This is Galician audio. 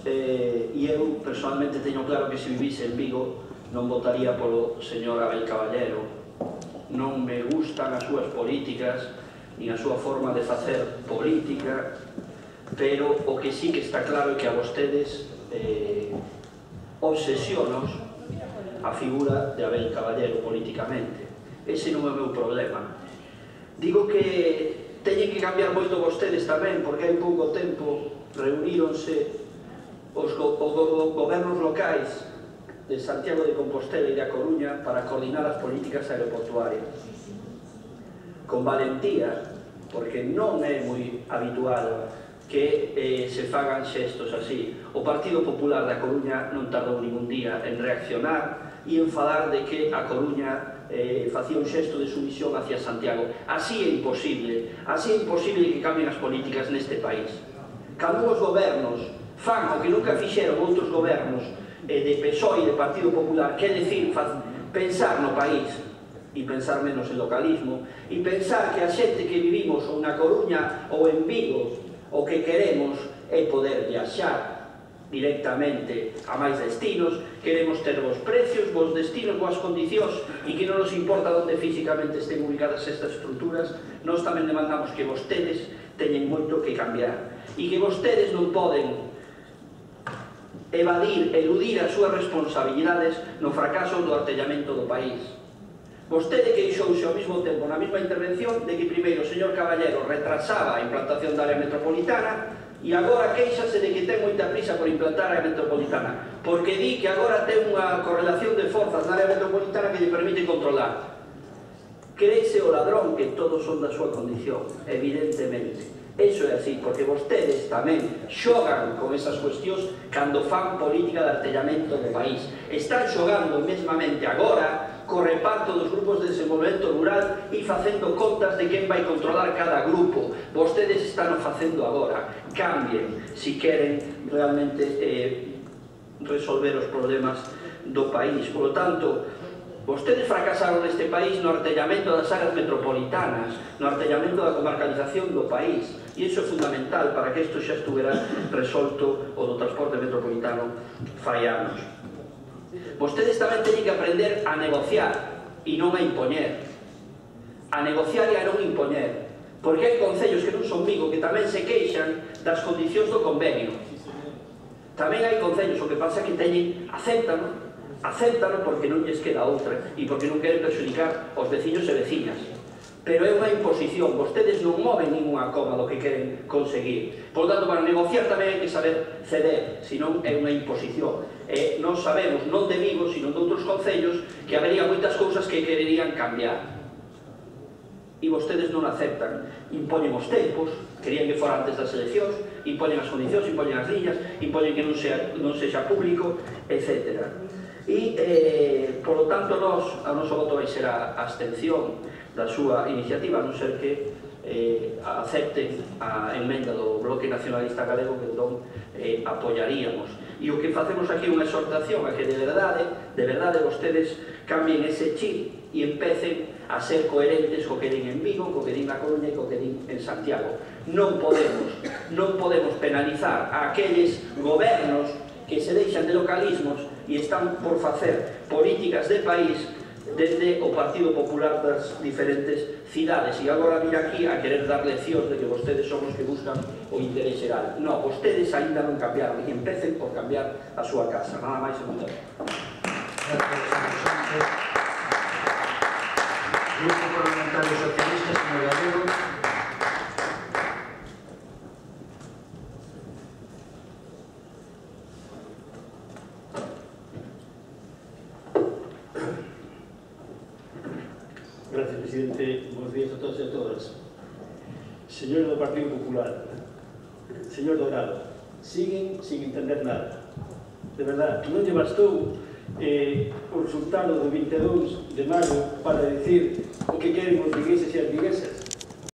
e eu personalmente teño claro que se vivise en Vigo non votaría polo señor Abel Caballero. Non me gustan as súas políticas nin a súa forma de facer política, pero o que sí que está claro é que a vostedes obsesionos a figura de Abel Caballero políticamente. Ese non é o meu problema. Digo que teñen que cambiar moito vostedes tamén, porque hai pouco tempo reuníronse os gobernos locais de Santiago de Compostela e da Coruña para coordinar as políticas aeroportuarias. Con valentía, porque non é moi habitual que se fagan xestos así. O Partido Popular da Coruña non tardou ningún día en reaccionar e en falar de que a Coruña facía un xesto de sumisión hacia Santiago. Así é imposible que cambien as políticas neste país. Cando os gobernos fan o que nunca fixeron outros gobernos de PSOE e de Partido Popular, que é dicir, pensar no país e pensar menos en localismo, e pensar que a xente que vivimos ou na Coruña ou en Vigo, o que queremos é poder viaxar directamente a máis destinos, queremos ter bons precios, bons destinos, boas condicións, e que non nos importa onde físicamente estén ubicadas estas estruturas. Nós tamén demandamos que vostedes teñen moito que cambiar, e que vostedes non poden eludir as súas responsabilidades no fracaso do artellamento do país. Vostede queixouse ao mesmo tempo na mesma intervención de que primeiro o señor Caballero retrasaba a implantación da área metropolitana e agora queixase de que ten moita prisa por implantar a área metropolitana, porque di que agora ten unha correlación de forzas na área metropolitana que lle permite controlar. Créese o ladrón que todos son da súa condición, evidentemente. Eso é así, porque vostedes tamén xogan con esas cuestións cando fan política de artellamento do país. Están xogando mesmamente agora co reparto dos grupos de desenvolvemento rural e facendo contas de quen vai controlar cada grupo. Vostedes están o facendo agora. Cambien, si queren realmente resolver os problemas do país. Por lo tanto, vostedes fracasaron neste país no artellamento das áreas metropolitanas, no artellamento da comarcalización do país, e iso é fundamental para que isto xa estuvera resolto o do transporte metropolitano fai anos. Vostedes tamén teñen que aprender a negociar e non a impoñer. A negociar e a non impoñer, porque hai concellos que non son Vigo que tamén se queixan das condicións do convenio. Tamén hai concellos, o que pasa que teñen, acéptano porque non lles queda outra e porque non queren perxudicar os veciños e veciñas. Pero é unha imposición, vostedes non moven ninguna coma do que queren conseguir. Por tanto, para negociar tamén hai que saber ceder, senón é unha imposición. Non sabemos, non de Vigo, sino de outros concellos, que habería moitas cousas que quererían cambiar. E vostedes non aceptan. Impoñen os tempos, querían que fora antes das eleccións, impoñen as condicións, impoñen as liñas, impoñen que non sexa público, etc. E, por lo tanto, o noso voto vai ser a abstención da súa iniciativa, a non ser que acepten a emenda do Bloque Nacionalista Galego, que entón apoyaríamos. E o que facemos aquí é unha exhortación a que de verdade vostedes cambien ese chip e empecen a ser coherentes co que din en Vigo, co que din na Coruña e co que din en Santiago. Non podemos penalizar a aqueles gobernos que se deixan de localismos e están por facer políticas de país desde o Partido Popular das diferentes cidades, e agora vir aquí a querer dar leccións de que vostedes son os que buscan o interés xeral. Non, vostedes ainda non cambiaron e empecen por cambiar a súa casa. Nada máis e moito. Grupo Parlamentario Socialista, señor Gallego. Gracias, presidente. Bos días a todos e a todas. Señores do Partido Popular, señor Dorado, siguen sin entender nada. De verdad, non lle bastou o resultado do 22 de maio para decir o que queren os vigueses e as viguesas.